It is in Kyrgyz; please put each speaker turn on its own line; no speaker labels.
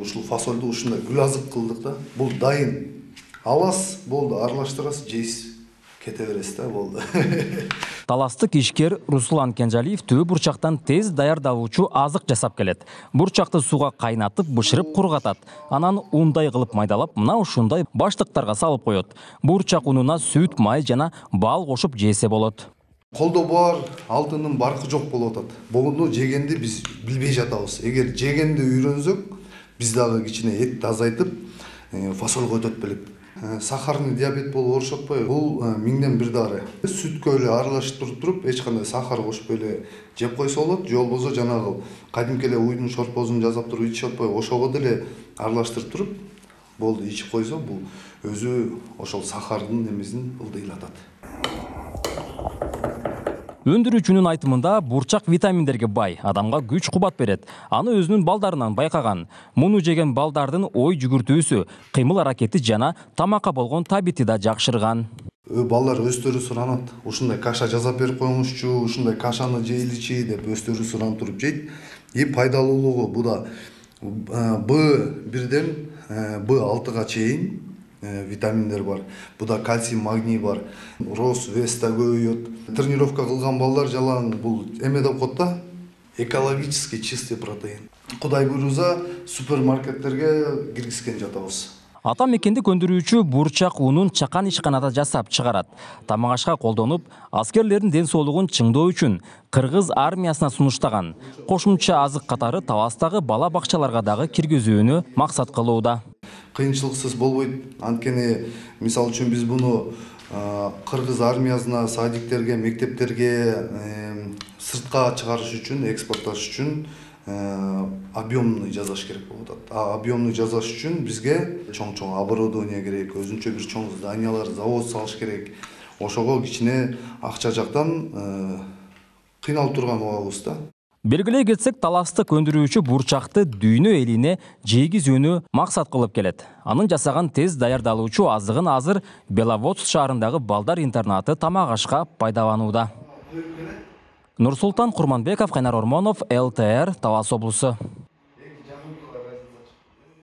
Ушул фасолду ушундай гүл азык кылдык да. Бул дайын. Аласыз, болду, аралаштырасыз, жейсиз. Кете бересиз да, болду.
Таластык ишкер Руслан Кенжалиев төө бурчактан тез даярдалуучу азык жасап келет. Бурчакты сууга кайнатып, бышырып кургатат. Анан ундай кылып майдалап, мына ушундай баштыктарга салып коет. Бурчак унуна сүт, май жана бал кошуп жесе болот.
Колдо бар, алтынын баркы жок болуп атат. Буну жегенди биз билбей жатабыз. Эгер жегенди үйрөнсөк, биз дагы кичине этти азайтып, фасол көтөтүп белек. Сахарный диабет болуп оорушуп атпайбы? Бул миңден бир дары. Сүткө эле аралаштырып туруп, эч кандай сахар кошуп эле жеп койсо болот, же болбосо жанагы кадимки эле уйдун шорпосун жасап туруп ичип атпайбы? Ошого деле аралаштырып туруп, болду ичип койсо, бул өзү ошол сахардын немесин ылдыйлатат.
Өндүрүүчүнүн айтымында бурчак витаминдерге бай, адамга күч кубат берет. Аны өзүнүн балдарынан байкаган. Муну жеген балдардын ой жүгүртүүсү, кыймыл аракети жана тамакка болгон табити да жакшырган.
Балдар өздөрү суранат. Ушундай каша жасап берип коюңузчу, ушундай кашаны жейличи деп өздөрү суранып туруп жейт. Пайдалуулугу бу да B1ден B6га чейин витаминдер бар. Буда кальций, магний бар. Рост, вес да көбөйөт. Тренировка кылган балдар жалаң бул эме деп коет да. Экологически чистый протеин. Кудай буйруза супермаркеттерге киргизген жатабыз.
Ата мекендик өндүрүүчү бурчак унун чакан ишканада жасап чыгарат. Тамак ашка колдонуп, аскерлердин ден соолугун чыңдоо үчүн Кыргыз армиясына сунуштаган. Кошумча азык катары Таластагы бала бакчаларга дагы киргизүүнү максат кылууда.
Кыйынчылыксыз болбойт. Анткени мисалы үчүн биз буну Кыргыз армиясына, садиктерге, мектептерге сыртка чыгарыш үчүн, экспортташ үчүн объемный жасаш керек болуп атат. Объемный жасаш үчүн бизге чоң-чоң оборудование керек, өзүнчө бир чоң зданиялар, завод салыш керек. Ошого кичине акча жактан кыйналып турган убагыбыз да.
Белгилей кетсек, таластык өндүрүүчү бурчакты дүйнө элине жейгизүүнү максат кылып келет. Анын жасаган тез даярдалуучу азыгын азыр Беловодск шаарындагы балдар интернаты тамак ашка пайдаланууда. Нурсултан Курманбеков, Кайнар Ормонов, ЛТР, Талас облусу.